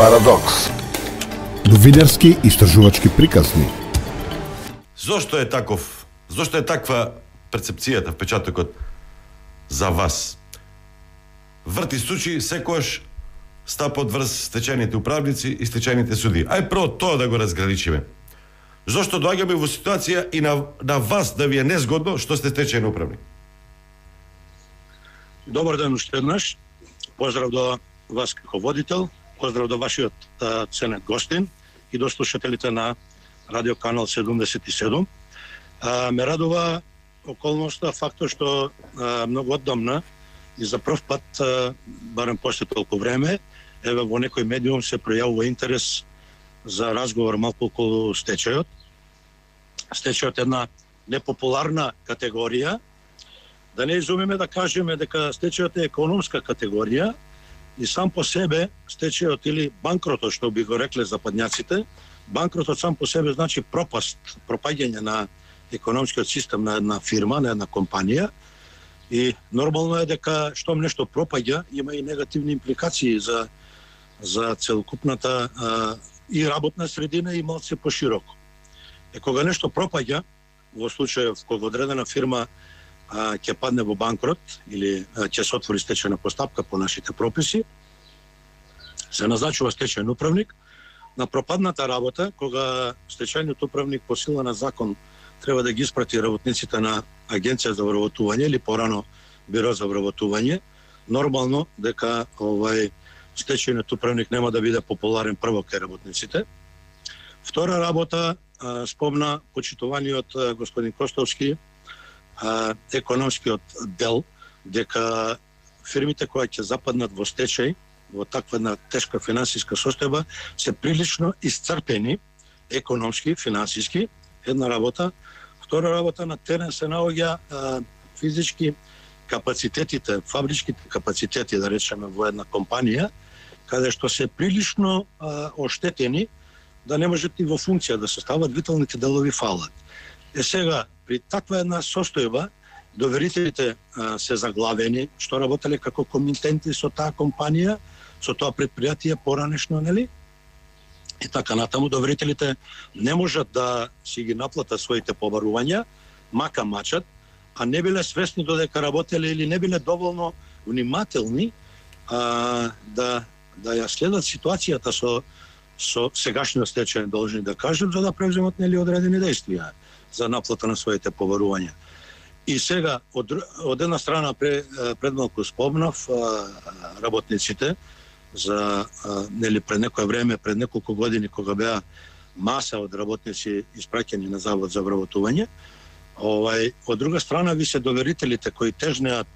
Парадокс. Новинарски истражувачки приказни. Зошто е таков? Зошто е таква перцепцијата, впечатокот за вас? Врти сучи секојаш стапот врз стечајните управници и стечајните суди. Ај прво тоа да го разграничиме. Зошто доаѓаме во ситуација и на вас да ви е незгодно што сте стечајен управник? Добар ден уште еднаш. Поздрав до вас како водител, поздрав до вашиот ценет гостин и до слушателите на Радио Канал 77. Ме радува околноста, фактот што многу оддамна и за прв пат, барем после толку време, еве во некој медиум се пројавува интерес за разговор малку околу стечајот. Стечајот е една непопуларна категорија. Да не изумиме да кажеме дека стечајот е економска категорија и сам по себе стечајот или банкротот, што би го рекле западњаците, банкротот сам по себе значи пропаст, пропаѓање на економскиот систем на една фирма, на една компанија. И нормално е дека штом нешто пропаѓа, има и негативни импликации за целокупната и работна средина и малце пошироко. Кога нешто пропаѓа, во случајов кога одредена фирма ќе падне во банкрот или ќе се отвори стечајна постапка по нашите прописи, се назначува стечајен управник. На пропадната работа, кога стечајниот управник по сила на закон треба да ги испрати работниците на Агенција за вработување или порано Биро за вработување, нормално дека стечајниот управник нема да биде популарен прво кај работниците. Втора работа, спомна почитуваниот господин Костовски, економскиот дел, дека фирмите кои ќе западнат во стечај, во таква една тешка финансиска состојба, се прилично исцрпени економски, финансиски, една работа. Втора работа, на терен се наоѓа физички капацитетите, фабричките капацитети, да речеме, во една компанија, каде што се прилично оштетени, да не можат и во функција да се стават, виталните делови фалат. Сега, при таква една состојба, доверителите се заглавени, што работеле како комитенти со таа компанија, со тоа предпријатие поранешно, нели? И така натаму, доверителите не можат да си ги наплатат своите побарувања, мака мачат, а не биле свесни додека работеле или не биле доволно внимателни да ја следат ситуацијата со сегашниот стечајен должник, да кажем, за да превземат нели одредени действија за наплата на своите побарувања. И сега, од една страна, пред малку спомнав работниците за нели пред некое време, пред неколку години, кога беа маса од работници испраќани на Завод за вработување. Од друга страна, ви се доверителите кои тежнеат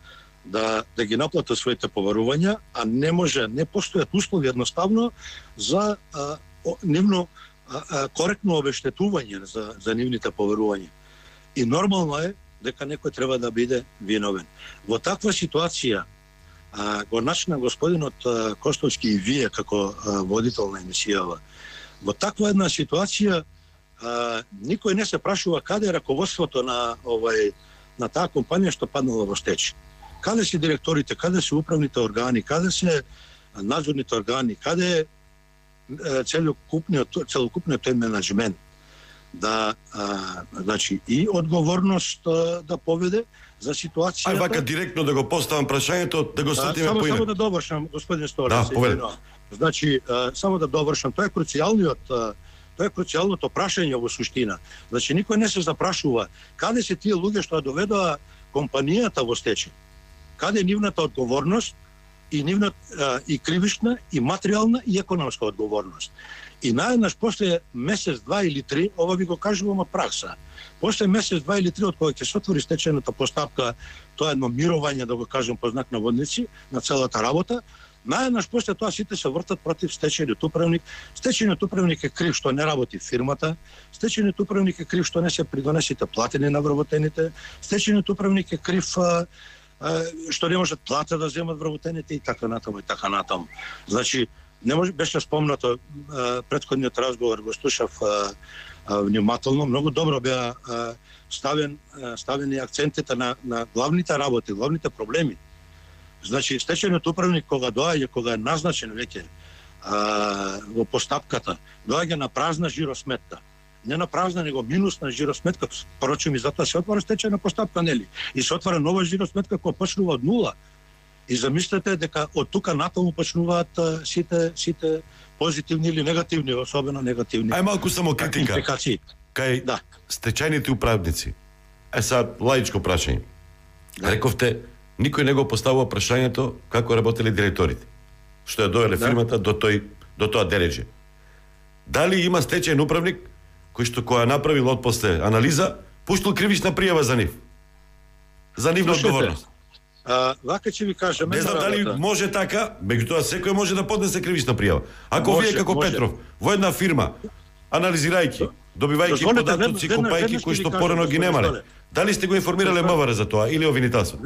да ги наплатат своите побарувања, а не постојат услови едноставно за нивно коректно обештетување за нивните побарувања. И нормално е дека некој треба да биде виновен. Во таква ситуација го начина господинот Костовски и вие како водител на емисијава. Во таква една ситуација никој не се прашува каде е раководството на таа компанија што паднала во стечај. Каде се директорите, каде се управните органи, каде се надзорните органи, каде е целокупниот тој менаџмент значи и одговорност да поведе за ситуацијата. Ај вака директно да го поставам прашањето, да го сватиме поинаку. Само да довршам, господин Сторец. Да, поведе. Значи, само да довршам, тоа е круцијалното прашање во суштина. Значи, никој не се запрашува каде се тие луѓе што доведоа компанијата во стечај. Каде е нивната одговорност и кривишна, и материјална, и економска одговорност. И наеднаш после месец, два или три, ова ви го кажувам од пракса, после месец, два или три, од кога ќе се отвори стечајната постапка, тоа едно мирување, да го кажем по знак на водници, на целата работа, наеднаш после тоа сите се вртат против стечајниот управник. Стечајниот управник е крив што не работи фирмата, стечајниот управник е крив што не се придонесите платени на вработените, стечајниот управник е крив што не можат плата да земат вработените и така натаму и така натаму. Значи, не може, беше спомнато претходниот разговор, го слушав внимателно, многу добро беа ставени акцентите на главните работи, главните проблеми. Значи, стечајниот управник кога доаѓа, кога е назначен веќе во постапката, доаѓа на празна жиросметка. Не на празна, него минусна жиросметка. Порочим и затоа се отвара стечајна постапка, нели? И се отвара нова жиросметка која почнува од нула. И замислете дека од тука натаму почнуваат сите позитивни или негативни, особено негативни. Ај малку само критика. Импликации. Кај стечајните управници. Сега лаичко прашање. Рековте, никој не го поставува прашањето како работеле директорите. Што ја довеле фирмата до тоа дереđe. Дали има стечајен управник кој што која направил отпосле анализа, пуштил кривична пријава за нив? За нивна одговорност. Вака ќе ви кажам. Не знам дали може така, меѓутоа секој може да поднесе кривична пријава. Ако може, вие како може. Петров во една фирма анализирајќи, добивајќи податоци, купајќи кои што порано ги немале, дали сте го информирале МВР за тоа или Овинитасо?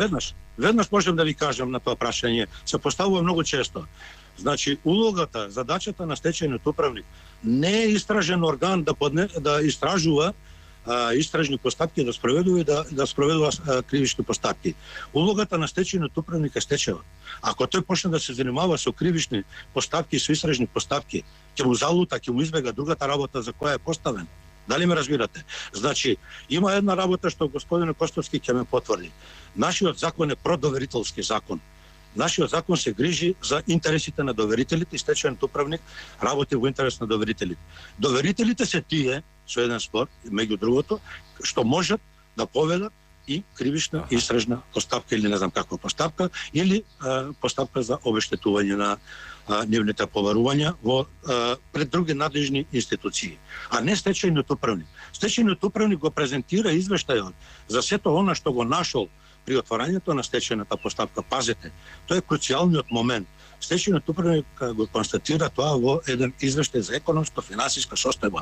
Веднаш можем да ви кажам на тоа прашање. Се поставува многу често. Значи, улогата, задачата на стечајниот управник не е истражен орган да истражува истражни постапки, да спроведува и да спроведува кривични постапки. Улогата на стечајниот управник е стечајот. Ако тој почне да се занимава со кривични постапки и со истражни постапки, ќе му залута, ќе му избега другата работа за која е поставен. Дали ме разбирате? Значи, има една работа што господин Костовски ќе ме потврди. Нашиот закон е продоверителски закон. Нашиот закон се грижи за интересите на доверителите и стечајниот управник работи во интерес на доверителите. Доверителите се тие, со еден спор, меѓу другото, што можат да поведат и кривична истражна постапка или не знам каква постапка, или постапка за обештетување на нивните побарувања пред други надлежни институции, а не стечајниот управник. Стечајниот управник го презентира извештајот за сето она што го нашол при отварањето на стечајната постапка. Пазете, тоа е круцијалниот момент. Стечајниот управник го констатира тоа во еден извештај за економско-финансиска состојба.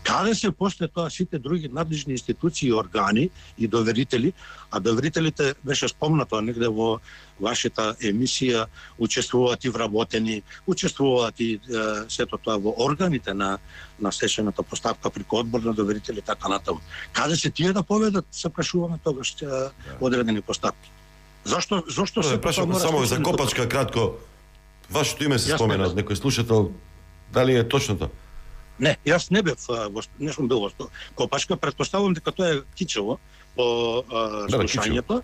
Каде се после тоа сите други надлежни институции и органи и доверители, а доверителите беше спомнато негде во вашата емисија, учествуваат и вработени, учествуваат и сето тоа во органите на стечајната постапка преку одбор на доверители и така натаму. Каде се тие да поведат, се прашуваме тогаш одредени постапки. Зошто се прашувам само за Копачка кратко. Вашето име се спомена од некој слушател. Дали е точно тоа? Не, јас не бев, не сум бил во Копачка, претпоставувам дека тоа е Кичево по слушањето.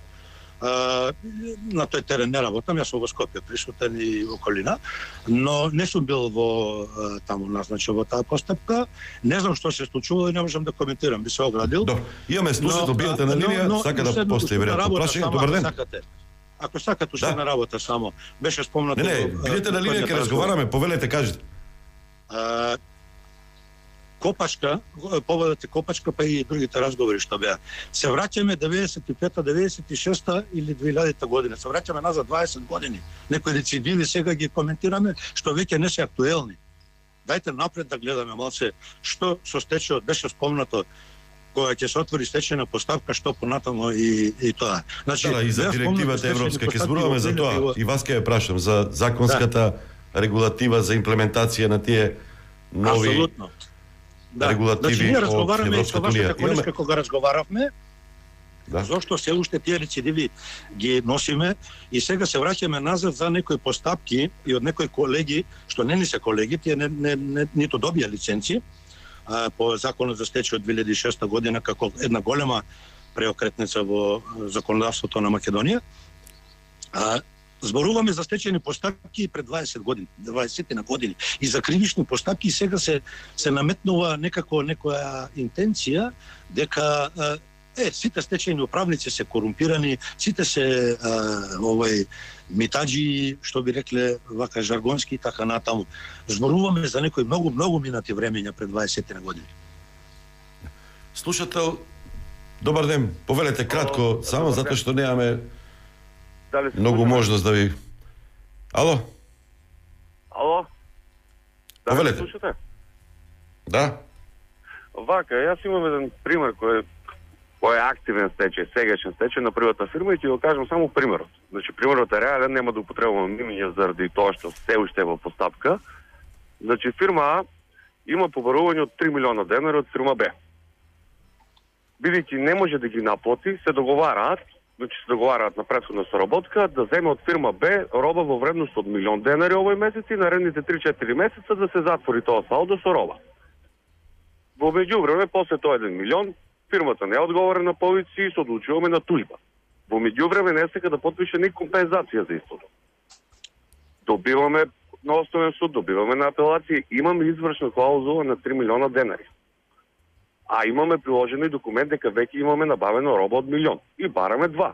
На тој терен не работам, јас сум во Скопје присутен и околина, но не сум бил во таму назначен во таа постапка. Не знам што се случува и не можам да коментирам, би се оградил. Имаме слушател, биете на линија, сака да постави веројатно прашање. Добар ден. Ако сакате уште на работа само, беше спомнато. Не, бидете на линија, ќе разговараме, повелете, кажете. Копачка, поводите Копачка, па и другите разговори што беа. Се враќаме 95-та, 96-та или 2000-та година. Се враќаме назад 20 години. Некои рецидиви сега ги коментираме, што веќе не се актуелни. Дајте напред да гледаме малце што со стечајот беше спомнато, кога ќе се отвори стечајна постапка, што понатаму и тоа. Значи, и за директивата европска ќе зборуваме за тоа. И вас ќе ја прашам за законската регулатива за имплементација на тие нови регулативи. Значи, ние разговараме и со вашата колешка кога разговаравме, зошто се уште тие рецидиви ги носиме и сега се враќаме назад за некои постапки и од некои колеги, што не ни се колеги, тие ниту добија лиценци, по законот за стечај од 2006 година како една голема преокретница во законодавството на Македонија. Зборуваме за стечајни постапки пред 20 години, 20 на години и за кривични постапки и сега се наметнува некоја интенција дека сите стечајни управници се корумпирани, сите се митаджи, што би рекле вака жаргонски и така натаму. Зборуваме за некои многу минати времења пред 20 на години. Слушател, добар ден, повелете кратко, само затоа што немаме многу можност да ви... Ало? Ало? Повелете. Слушате? Да. Вака, јас имам еден пример кој е активен стечај, сегашен стечај на приватна фирма и ќе го кажам само примерот. Значи, примерот е реален, нема да употребувам имиња заради тоа што се уште во постапка. Значи, фирма А има побарување од 3 милиона денари од фирма Б. Бидејќи не може да ги наплати, се договараат значи се договараат на претходна соработка да земе од фирма Б роба во вредност од 1.000.000 денари овој месец и наредните 3-4 месеца да се затвори тоа салдо со роба. Во меѓувреме, после тоа 1.000.000, фирмата не одговара на повици и се одлучуваме на тужба. Во меѓувреме не сека да потпише ни компензација за истото. Добиваме на основен суд, добиваме на апелација, имаме извршна клаузула на 3 милиона денари. А имаме приложено и документ дека веќе имаме набавено роба од 1.000.000 и бараме 2.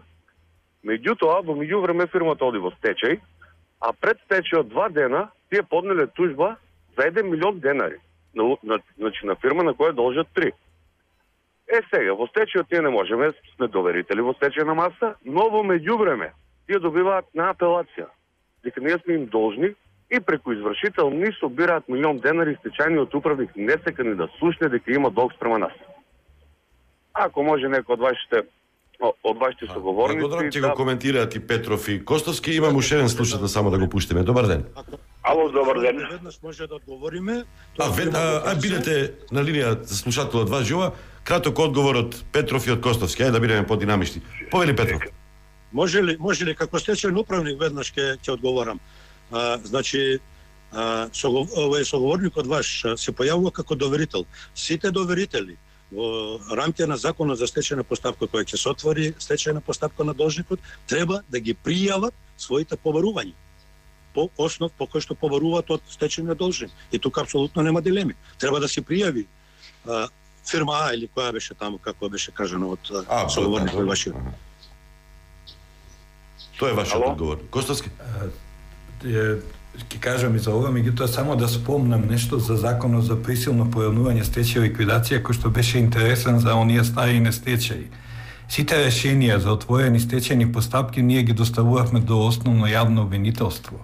Меѓутоа, во меѓувреме фирмата оди во стечај, а пред стечајот 2 дена тие поднеле тужба за 1.000.000 денари. Значи на фирма на која должат 3. Сега, во стечајот тие не можеме, сме доверители во стечајна маса, но во меѓувреме тие добиваат на апелација дека ние сме им должни и преку извршител ни собираат 1.000.000 денари, стечајниот управник не сека ни да слушне дека има долг спрема нас. Ако може некој од вашите соговорници... Благодарам, ќе го коментираат и Петров и Костовски. Имам уште еден слушател, само да го пуштиме. Добар ден. Ало, добар ден. Веднаш може да одговориме. Бидете на линија за слушателот вас жива. Краток одговор од Петров и од Костовски. Ајде да бидеме подинамични. Повели Петров. Може ли како стечајен управник веднаш ќе одговорам. Значи овој соговорникот ваш се појавува како доверител. Сите доверители во рамките на законот за стечајна постапка која ќе се отвори стечајна постапка на должникот треба да ги пријават своите побарувања по основ по кој што побаруваат од стечајниот должник. И тука апсолутно нема дилеми. Треба да се пријави фирма А или која беше таму, како беше кажано од соговорникот вашиот. Тоа е вашиот одговор. Костовски? Ќе кажам и за ова, меѓутоа само да спомнам нешто за законот за присилно појавнување стечај и ликвидација, кој што беше интересен за оние стари нестечаи. Сите решенија за отворени стечајни постапки ние ги доставувавме до основно јавно обвинителство.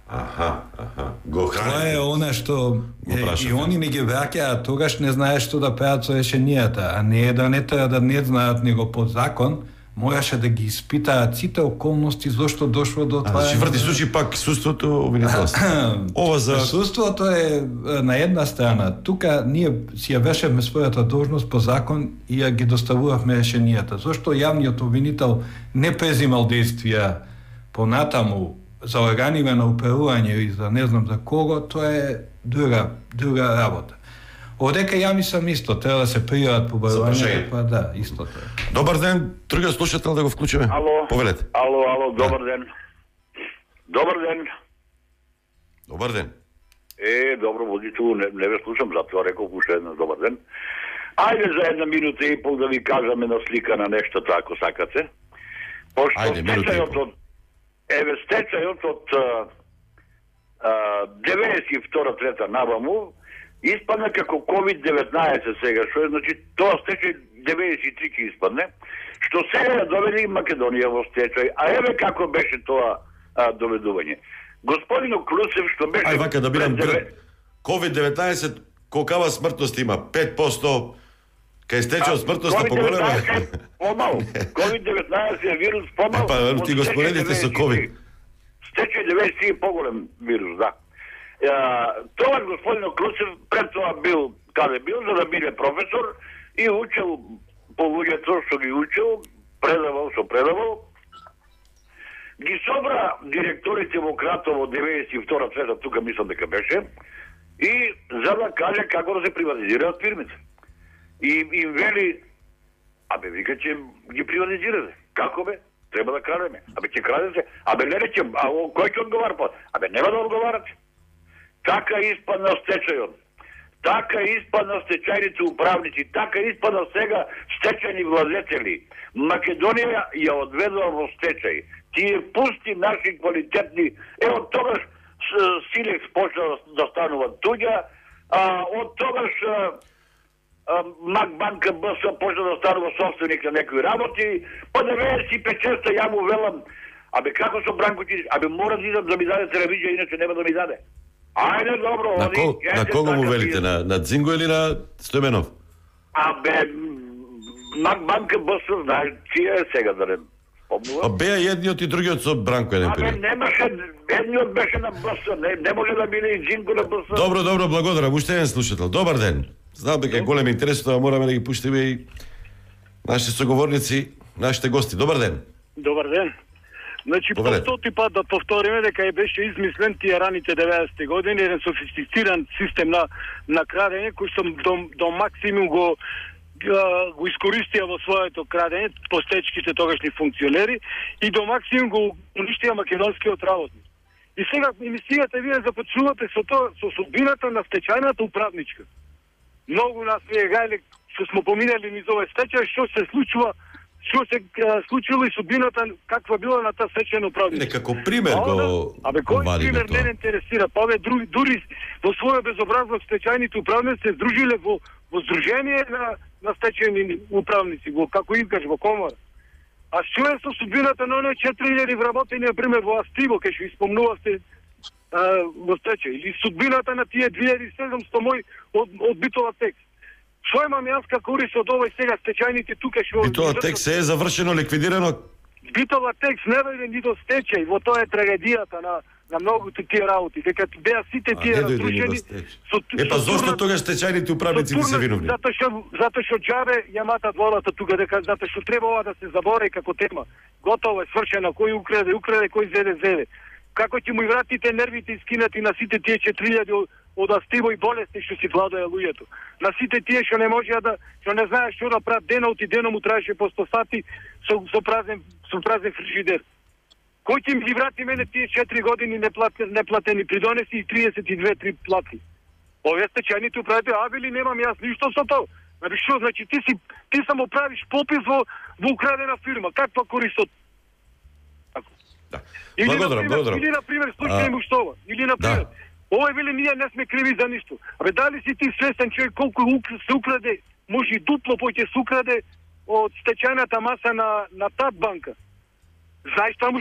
Тоа е она што и они не ги враќаат, тогаш не знаеш што да прават со решенијата, а не е да не треба да не знаат него по закон, мораше да ги испитаат сите околности зошто дошло до това. Значи врти случај пак суството обвинителство. Ова за суството е на една страна. Тука ние си ја вешевме својата должност по закон и ја ги доставувавме решенијата. Зошто јавниот обвинител не презимал действија понатаму за органите на управување и за не знам за кого, тоа е друга работа. Одека ја мислам исто, треба да се пријават побарувања, па да, исто тоа. Добар ден, другиот слушател да го вклучиме. Ало. Повелете. Ало, добар ден. Добар ден. Добар ден. Добро, водителу, не ве слушам, затоа реков уште еднаш добар ден. Ајде за една минута и пол да ви кажаме на слика на нештото, ако сакате. Пошто стечајот од 92-3 наваму испадна како COVID-19 сега, што е, значи, тоа стечај 93 ќе испадне, што сега доведе и Македонија во стечај, а еве како беше тоа доведување. Господино Клусев, што беше... Ај вака да бидам COVID-19, колкава смртност има? 5%, кај стечај смртноста поголема? Помал. COVID-19 е вирус помал. Па, ти го споредите со COVID. Стечај 93 е поголем вирус, да. Тоа господин Клусев пред тоа бил каде бил за да биде професор и учел по луѓето што ги учел, предавал. Ги собра директорите во Кратово 92-3, тука мислам дека беше, и за да каже како да се приватизираат фирмите. И им вели, вика че ги приватизирате. Како бе? Треба да крадеме. Ќе крадете. Не речем, кој ќе одговара па? Нема да одговарате. Така испадна стечајот. Така испадна стечајните управници. Така испадна сега стечајни владетели. Македонија ја одведува во стечај. Тие пусти наши квалитетни... Од тогаш Силекс почна да станува туѓа, од тогаш Макбанка БС почна да станува собственик на некои работи, па 95-6 ја му велам, како со Бранко Ќирич, мора да идам да ми даде телевизија, иначе нема да ми даде. Ајде, добро, на кого му велите? На Дзинго или на Стојменов? Макбанка БС, знаеш, чија е сега да не спомнувам? Беа едниот и другиот со Бранко еден период. Немаше, едниот беше на БС, не може да биде и Дзинго на БС. Добро, благодарам, уште еден слушател. Добар ден. Знам дека е голем интерес, тоа мораме да ги пуштиме и нашите соговорници. нашите гости. Добар ден. Добар ден. Значи, по стоти пат да повториме дека беше измислен тие раните 90-ти години еден софистициран систем на крадење кој што до максимум го искористија во своето крадење по стечките тогашни функционери и до максимум го уништија македонскиот работник. И сега емисијата вие започнувате со тоа, со судбината на стечајната управничка. Многу нас вие гајле што смо поминали низ овој стечај, што се случило и судбината каква била на таа стечајна управничка. Некако пример го кој пример не интересира? Па дури во своја безобразност стечајните управници се здружиле во здружение на стечајни управници, како им кажа, во комора. А што е со судбината на оние 4000 вработени, например, во Астиво, кај што испомнувавте во стечај, или судбината на тие 2700 мој од Битола текст. Што имам јас како корист од овој сега стечајните тука што... Битола текст е завршено, ликвидирано? Битола текст не дојде ни до стечај, во тоа е трагедијата на многуте тие работи, дека беа сите тие разрушени. Па зошто тогаш стечајните управници се виновни? Затоа што џабе ја матат волата тука, затоа што треба ова да се забори како тема. Готово е, свршено, кој украде, кој зеде. Како ќе му вратите нервите искинати на сите тие 4000 од Астиво и болести што си владоја луѓето. На сите тие што не можеа што не знаеш што да прават денот и деном му траеше по 100 сати со празен фрижидер. Кој ќе ми врати мене тие 4 години неплатени придонеси и 32-3 плати? Овие стечајните управители, вели немам јас ништо со тоа. Што значи ти само правиш попис во украдена фирма. Каква корист од... Благодарам. Или на пример случај Муштова, или на пример овој вели ние не сме криви за ништо. Дали си ти свесен човек колку се украде, може и дупло поќе се украде од стечајната маса на тад банка? Знаеш таму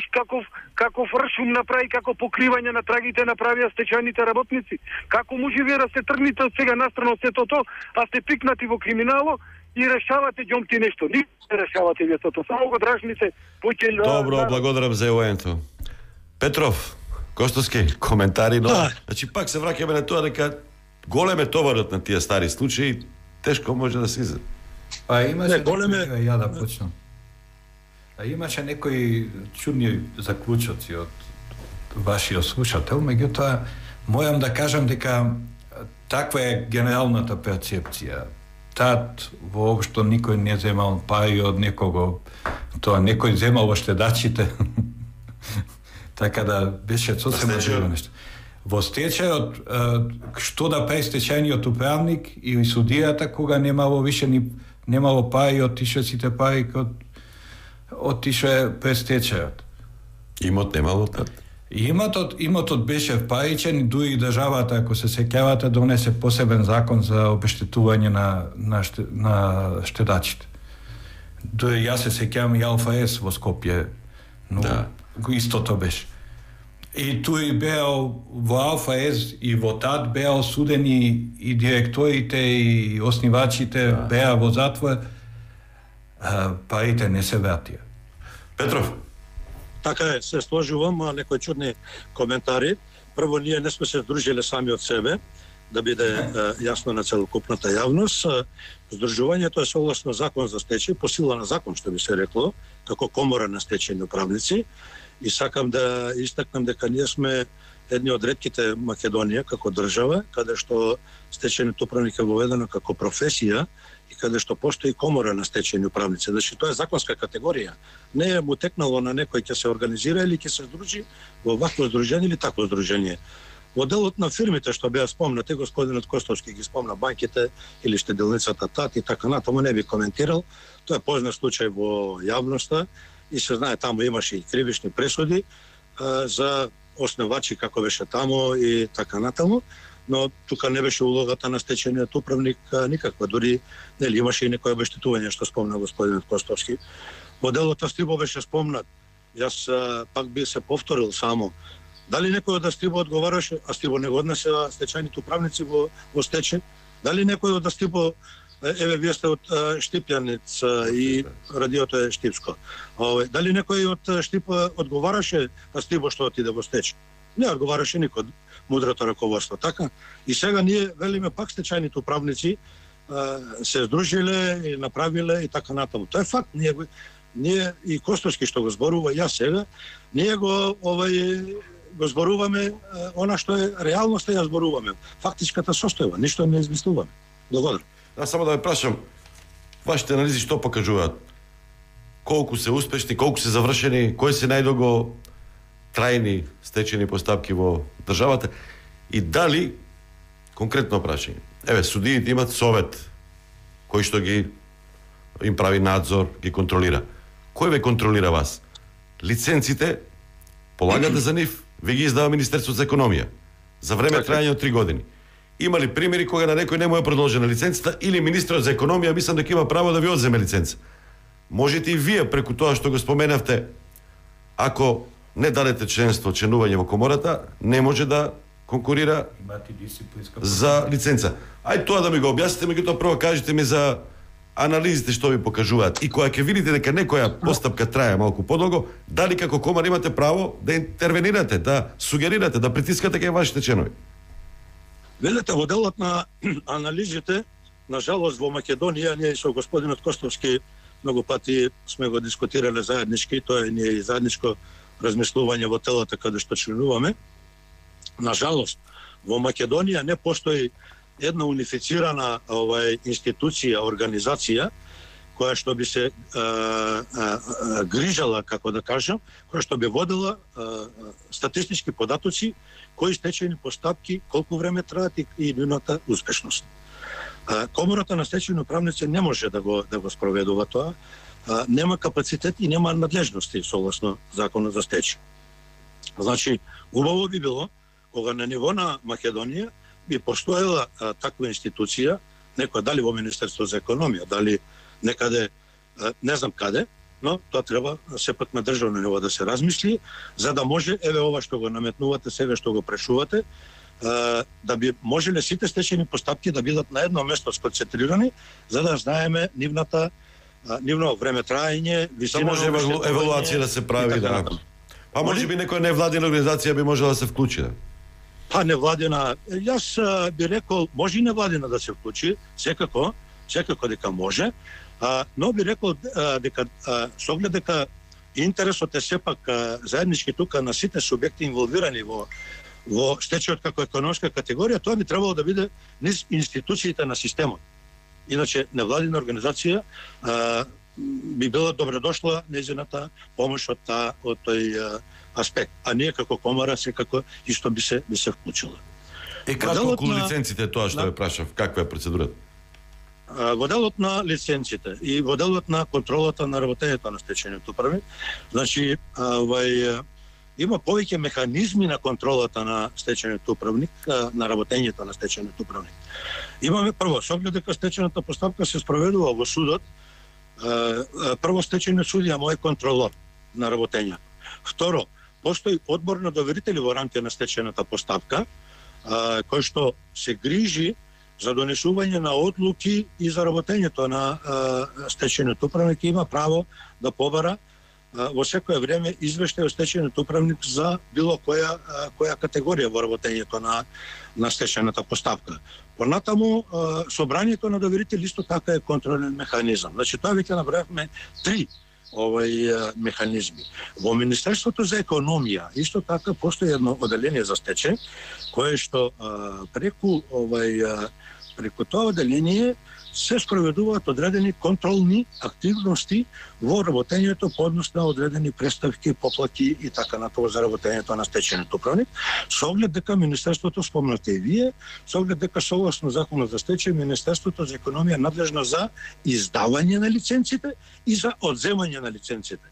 каков ршум направи, како покривање на трагите направија стечајните работници? Како може вие да се тргнете од сега настрана од сето тоа, а сте пикнати во криминало и решавате ѓомти нешто? Не решавате вие тоа, само го дражните поќе... Добро, благодарам за евоенто. Петров, Костовски, коментари, но... Значи, пак се враќаме на тоа дека голем е товарот на тие стари случаи, тешко може да се изеде. Па имаше... Ја да почнам. Имаше некои чудни заклучоци од вашиот слушател, меѓутоа, мојам да кажам дека таква е генералната перцепција. Тад воопшто никој не земал пари од некого, тоа некој земал во штедачите. Така да беше сосем друго нешто. Во стечајот, што да прави стечајниот управник и судијата кога немало више немало пари, отише сите пари отише пред стечајот. Имот немало тад? Имотот беше впаричен и дури државата, ако се сеќавате, донесе посебен закон за обештетување на штедачите. Дури јас се сеќавам и Алфа С во Скопје, но истото беше. И туи беа во Алфа С и во ТАД беа осудени и директорите и оснивачите беа во затвор, парите не се вратија. Петров? Така е, се сложувам, некои чудни коментари. Прво, ние не сме се здружили сами од себе, да биде јасно на целокупната јавност. Здружувањето е согласно закон за стечај, по сила на закон, што би се рекло, како комора на стечајни управници. И сакам да истакнам дека ние сме едни од ретките Македонија како држава, каде што стечајниот управник е воведено како професија и каде што постои комора на стечајни управници. Значи, тоа е законска категорија. Не е му текнало на некој ќе се организира или ќе се здружи во вакво здружение или такво здружение. Во делот на фирмите што беа спомнати, господинот Костовски ги спомна банките или штеделницата ТАТ и така натаму, не би коментирал. Тоа е познат случај во јавноста и се знае, таму имаше и кривични пресуди за основачи како беше таму и така натаму, но тука не беше улогата на стечајниот управник никаква, дури нели имаше и некој обештетување што спомна господинот Костовски. Во делот Астиво беше спомнат. Јас пак би се повторил само. Дали некој од Астиво одговараше, Астиво не го однесе стечајните управници во стечај? Дали некој од Астиво, еве вие сте од Штипјанец и радиото е штипско. Дали некој од Штип одговараше Астиво што отиде во стечај? Не одговараше никој, мудрото раководство, така? И сега ние велиме пак стечајните управници се здружиле и направиле и така натаму. Тоа е факт, ние ние и Костовски што го зборува, јас сега, ние го зборуваме она што е реалноста, ја зборуваме. Фактичката состојба, ништо не измислуваме. Благодарам. Само да ве прашам, вашите анализи што покажуваат? Колку се успешни, колку се завршени, кои се најдолго трајни стечени постапки во државата и дали, конкретно прашање, судиите имат совет кој што им прави надзор, ги контролира. Кој ве контролира вас? Лиценците полагате за нив, ви ги издава Министерството за економија за време трајање од 3 години. Има ли примери кога на некој не му е продолжена лиценцата или министерот за економија мислам дека има право да ви одземе лиценца? Можете и вие преку тоа што го споменавте, ако не дадете членување во комората, не може да конкурира за лиценца. Ај тоа да ми го објасните, меѓутоа прво кажете ми за анализите што ви покажуваат и кога ќе видите дека некоја постапка трае малку подолго, дали како комара имате право да интервенирате, да сугерирате, да притискате кај вашите членови? Велете, во делот на анализите, на жалост во Македонија, ние со господинот Костовски многу пати сме го дискутирале заеднички, тоа е ние и заедничко размислување во телата каде што членуваме. На жалост, во Македонија не постои една унифицирана институција, организација, која што би се грижала, како да кажам, која што би водела статистички податоци, кои стечени постапки, колку време траат и нивната успешност. Комората на стечени управници не може да го спроведува тоа, нема капацитет и нема надлежности согласно законот за стечај. Значи, убаво би било кога на ниво на Македонија би постоела таква институција, некоја дали во Министерство за економија, дали некаде, не знам каде, но тоа треба сепак на државно ниво да се размисли, за да може, ова што го наметнувате сега, што го прешувате, да би можеле сите стечени постапки да бидат на едно место сконцентрирани, за да знаеме нивно време траење, висина. Да може евалуација да се прави, да. Па може би некоја невладина организација би можела да се вклучи, да? Па невладина, јас би рекол, може и невладина да се вклучи, секако дека може, но би рекол дека со оглед дека интересот е сепак заеднички тука на сите субјекти инволвирани во стечајот како економска категорија, тоа би требало да биде низ институциите на системот. Иначе невладина организација би била добредошла нејзината помош од тој аспект, а ние како комара секако исто би се вклучила. Кратко околу лиценците, тоа што ве прашав, каква е процедурата? Во делот на лиценците и во делот на контролата на работењето на стечајниот управник, значи има повеќе механизми на контролата на стечајниот управник, на работењето на стечајниот управник. Имаме прво, со оглед дека стечајната постапка се спроведува во судот, прво стечајниот судија мој контролор на работењето. Второ, постои одбор на доверители во рамки на стечајната постапка, кој што се грижи за донесување на одлуки и за работењето на стечајниот управник, има право да побара во секое време извештај од стечајниот управник за било која категорија во работењето на стечајната постапка. Понатаму, собранието на доверители исто така е контролен механизам. Значи, тоа веќе набројавме 3 механизми. Во Министерството за економија исто така постои едно оделение за стечај, кое што преку тоа оделение се спроведуваат одредени контролни активности во работењето по однос на одредени преставки, поплати и така натаму за работењето на стечајниот управник, со оглед дека Министерството, спомнате и вие, со оглед дека согласно законот за стечај, Министерството за економија надлежно за издавање на лиценците и за одземање на лиценците.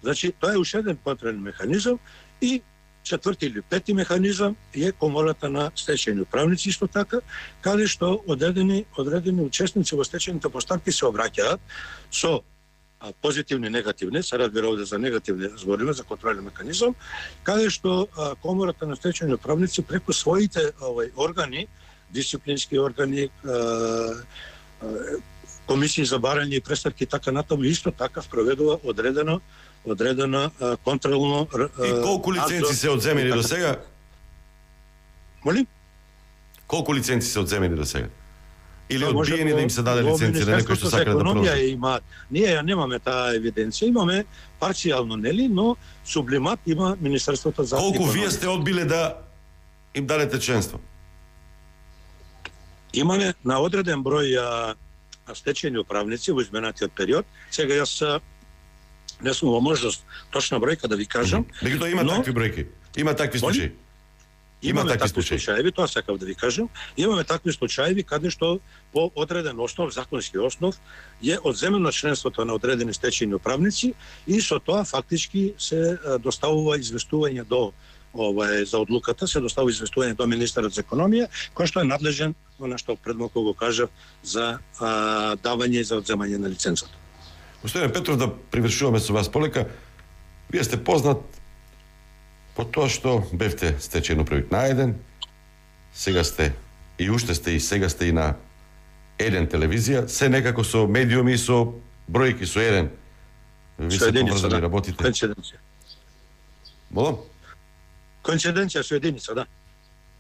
Значи, тоа е уште еден контролен механизам и четврти или пети механизам е комората на стечајни управници исто така, каде што одредени учесници во стечајните постапки се обраќаат со позитивни и негативни, се разбира овде за негативни збориме, за контролен механизам, каде што комората на стечајни управници преку своите органи, дисциплински органи, комисии за барање и преставки така натаму исто така спроведува одредена контролно... И колку лиценци се одземени до сега? Молим? Колку лиценци се одземени до сега? или одбиени да им се даде лиценција на некој што сака да продолжи? Ние ја немаме таа евиденција, имаме парцијално, нели, но сублимат има Министерството за Колку економија. вие сте одбиле да им дадете членство? Имаме на одреден број стечени управници во изминатиот период. Сега јас не сум во можност точна бројка да ви кажам. Меѓутоа има такви бројки. Има такви случаи. Имаме такви случаи, тоа сакав да ви кажам. Имаме такви случаи каде што по одреден основ, законски основ, е одземено членството на одредени стечени управници и со тоа фактички се доставува известување до за одлуката, се доставува известување до министерот за економија, кој што е надлежен, она што пред малку го кажав, за давање и за одземање на лиценцата. Господин Петров, да привршуваме со вас полека. Вие сте познат по тоа што бевте стечен управник на еден, сега сте и уште сте и сега сте и на еден телевизија, се некако со медиуми, со бројки, со еден. Ви се поврзани, работите. Коинциденција. Молам? Коинциденција со единица, да.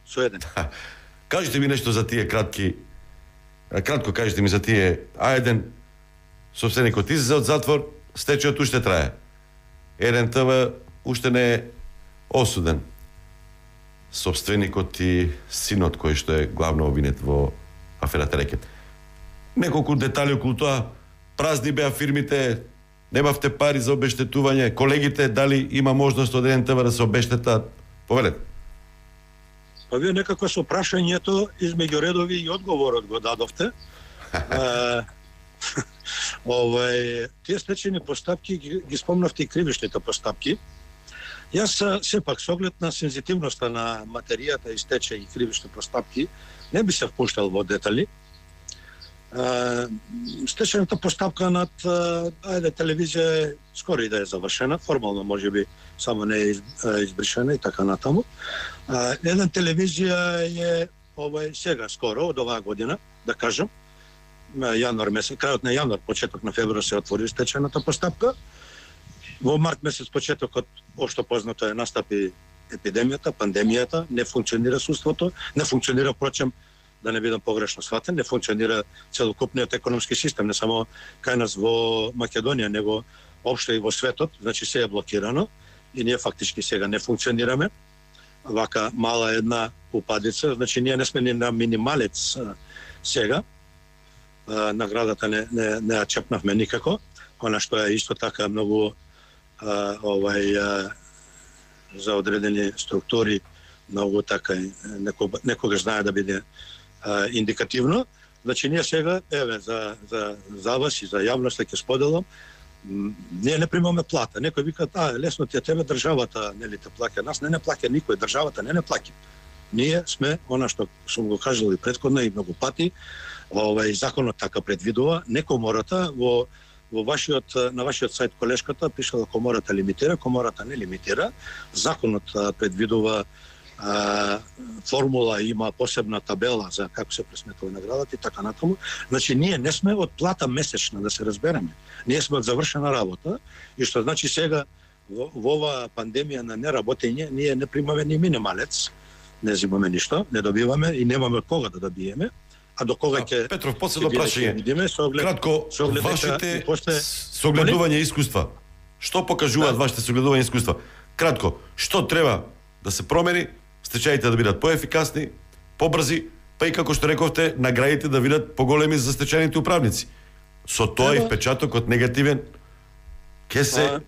Со еден. Кажете ми нешто за тие кратко кажете ми за тие А1, собственикот излезе од затвор, стечајот уште трае. Еден ТВ уште не е осуден. Собственикот и синот кој што е главно обвинет во аферата Рекет. Неколку детали околу тоа, празни беа фирмите, немавте пари за обештетување, колегите дали има можност од еден ТВ да се обештетат? Повелете. Па вие некако со прашањето измеѓу редови и одговорот го дадовте. Тие стечени постапки ги спомнавте и кривишните постапки. Јас сепак со оглед на сензитивноста на материјата и стечај и кривишни постапки не би се впуштал во детали. Стечената постапка над телевизија скоро и да е завршена, формално можеби само не е избришена и така натаму. Една телевизија е сега скоро од оваа година, да кажам, јануар месец, крајот на јануар, почеток на февруар се отвори стечената постапка. Во март месец, почетокот, општо познато е, настапи епидемијата, пандемијата, не функционира судството, не функционира, впрочем, да не бидам погрешно сватен, не функционира целокупниот економски систем, не само кај нас во Македонија, него општо и во светот, значи се е блокирано и ние фактички сега не функционираме. Вака мала една упадица, значи ние не сме ни на минималец сега. Наградата не ја чепнавме никако, она што е исто така многу за одредени структури многу така некогаш знае да биде индикативно. Значи ние сега, еве, за вас и за јавноста ќе споделам, ние не примаме плата. Некој вика, лесно ти е тебе, државата нели те плаќа. Нас не плаќа никој, државата не плаќа. Ние сме, она што сум го кажал и претходно и многу пати, законот така предвидува, не комората на вашиот сајт колешката пишала комората лимитира, комората не лимитира. Законот предвидува формула, има посебна табела за како се пресметува наградата и така натаму. Значи ние не сме од плата месечна, да се разбереме. Ние сме од завршена работа и што значи сега во оваа пандемија на неработење ние не примаме ни минималец, не земаме ништо, не добиваме и немаме од кога да добиеме. А до кога ќе Петров, последно прашање. Кратко, вашите согледување искуства. Што покажуваат вашите согледување искуства? Кратко, што треба да се промени, стечаите да бидат поефикасни, побрзи, па и како што рековте, наградите да бидат поголеми за стечајните управници. Со тоа и впечатокот негативен ќе се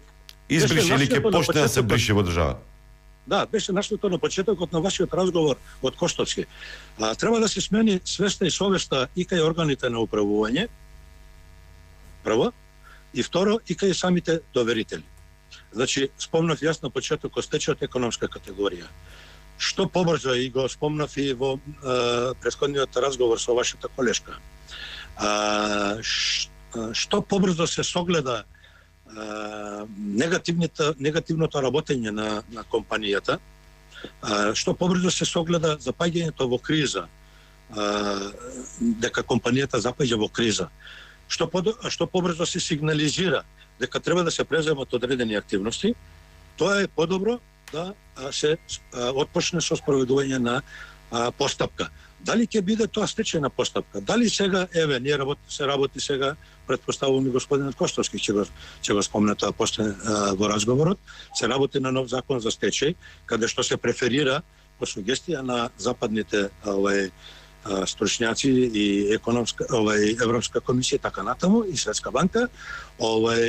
избрише или ќе почне да се брише во држава. Да, беше наштото на почетокот на вашиот разговор од Коштовски. Треба да се смени свеста и совеста и кај органите на управување, прво, и второ, и кај самите доверители. Значи, спомнав јас на почетокот стечајот економска категорија. Што побрзо, и го спомнав и во претходниот разговор со вашата колешка, што побрзо се согледа негативното работење на компанијата, што побрзо се согледа запаѓањето во криза, дека компанијата запаѓа во криза, што побрзо се сигнализира дека треба да се преземат одредени активности, тоа е подобро да се отпочне со спроведување на постапка. Дали ќе биде тоа стечајна постапка? Дали сега, ние се работи сега, предпоставувам и господинот Костовски ќе го спомне тоа после во разговорот, се работи на нов закон за стечај, каде што се преферира по сугестија на западните стручњаци и Европска комисија така натаму и Светска банка,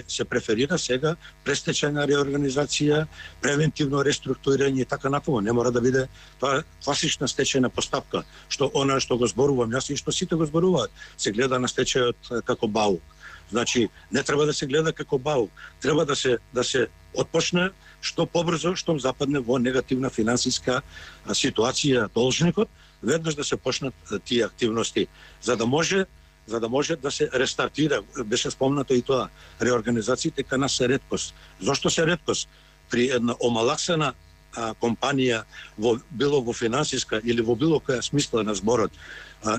се преферира сега престечајна реорганизација, превентивно реструктурирање и така натаму. Не мора да биде тоа класична стечајна постапка, што она што го зборувам јас и што сите го зборуваат, се гледа на стечајот како баук. Значи, не треба да се гледа како баук, треба да се отпочне што побрзо, што западне во негативна финансиска ситуација должникот, веднаш да се почнат тие активности, за да може да се рестартира. Беше спомнато и тоа, реорганизациите кај нас се реткост. Зошто се реткост? При една омалаксана компанија, било во финансиска или во било која смисла на зборот,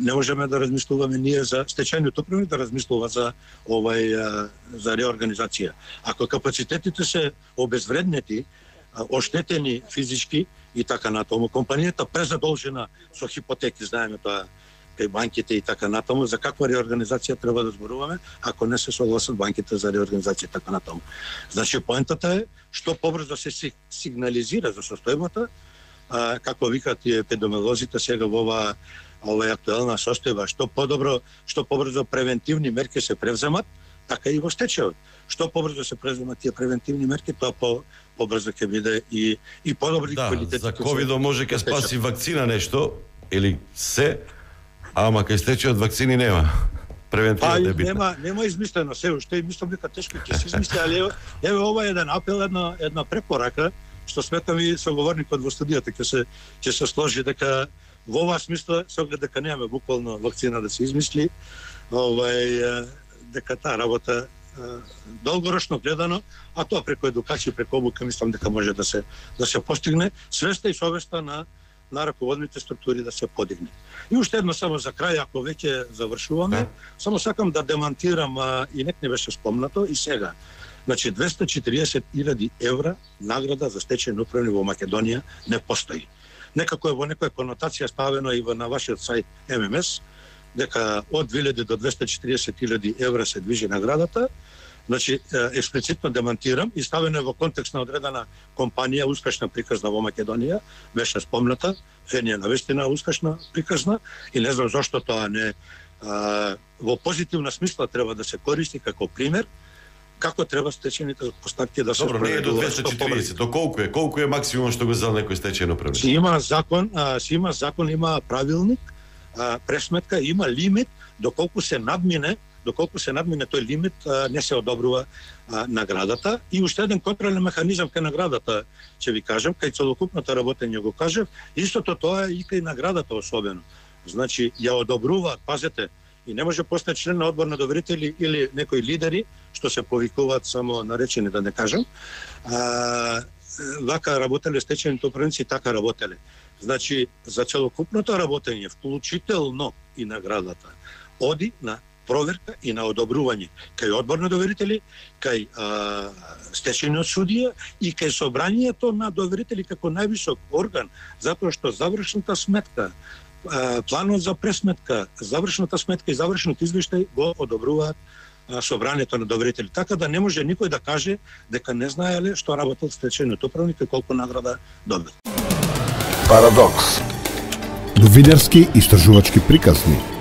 не можеме да размислуваме ние за стечајниот управник да размислува за реорганизација. Ако капацитетите се обезвреднети, оштетени физички и така натаму, компанијата презадолжена со хипотеки, знаеме тоа кај банките и така натаму, за каква реорганизација треба да зборуваме, ако не се согласат банките за реорганизација така натаму. Значи, поентата е што побрзо се сигнализира за состојбата, како викат и епидемиолозите сега во ова актуелна состојба, што побрзо превентивни мерки се превземат, така и во стечајот. Што побрзо се преземат тие превентивни мерки, тоа побрзо ќе биде и подобри квалитет. За ковидо може ќе спаси вакцина нешто или се, ама кај стечајот вакцини нема. Превентивно е битно. Нема измислено се, уште и мислам дека тешко ќе се измисли, али еве ова е еден апел, една препорака, што сметам и соговорникот во студијата ќе се сложи дека во оваа смисла, со оглед дека немаме буквално вакцина да се измисли, дека таа работа долгорочно гледано, а тоа преку едукација, преку обука, мислам дека може да се постигне, свеста и совеста на раководните структури да се подигне. И уште едно само за крај, ако веќе завршуваме, само сакам да демантирам, и нек не беше спомнато, и сега. Значи, 240.000 евра награда за стечајен управник во Македонија не постои. Некако е во некоја конотација ставено и на вашиот сајт ММС, дека од 2000 до 240.000 евра се движи наградата. Значи, експлицитно демантирам и ставено во контекст на одредена компанија, успешна приказна во Македонија, беше спомната, Фенија навистина успешна приказна, и не знам зашто тоа не во позитивна смисла треба да се користи како пример, како треба стечените постапки да се проведуваат. Добро, не е до 240, до колку е максимум што го зел некој стечајен управник? Си има закон, има правилник, пресметка, има лимит, доколку се надмине тој лимит, не се одобрува наградата. И уште еден контролен механизам кај наградата, ќе ви кажам, кај целокупното работење го кажав, истото тоа и кај наградата особено. Значи, ја одобруваат, пазете, и не може постане член на одбор на доверители или некои лидери, што се повикуваат само наречени, да не кажам, вака работеле стечајните управници, така работеле. Значи, за целокупното работење, вклучително и наградата, оди на проверка и на одобрување кај одбор на доверители, кај стечајниот судија и кај собранието на доверители како највисок орган, затоа што завршната сметка, планот за пресметка, завршната сметка и завршниот извештај го одобруваат собранието на доверители. Така да не може никој да каже дека не знаеле што работел стечајниот управник и колку награда добил. Парадокс. Новинарски истражувачки приказни.